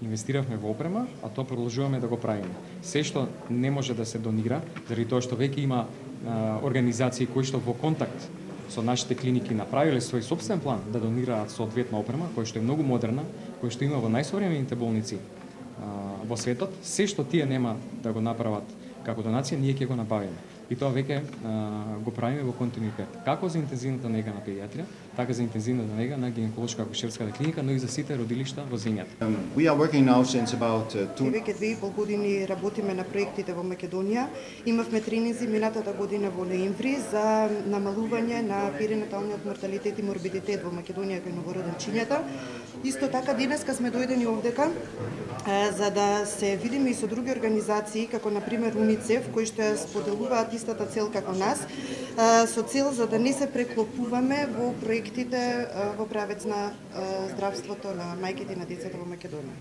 Инвестиравме во опрема, а тоа продолжуваме да го правиме. Се што не може да се донира, заради тоа што веќе има организации кои што во контакт со нашите клиники направиле свој сопствен план да донираат соодветна опрема, која што е многу модерна, која што има во најсовремените болници во светот, се што тие нема да го направат како донација, ние ќе го набавиме. И тоа веќе го правиме во континуитет. Како за интензивната нега на педиатрија, така за интензивната нега на гинеколошка акушерската клиника, но и за сите родилишта во земјата. We are working now since about Веќе 2,5 години работиме на проектите во Македонија. Имавме тренинзи минатата година во ноември за намалување на перинаталниот морталитет и морбидитет во Македонија кај новороденчињата. Исто така денеска сме дојдени овдека за да се видиме и со други организации, како на пример УНИЦЕФ, кои што ја споделуваат истата цел како нас, со цел за да не се преклопуваме во проектите во правец на здравството на мајките и на децата во Македонија.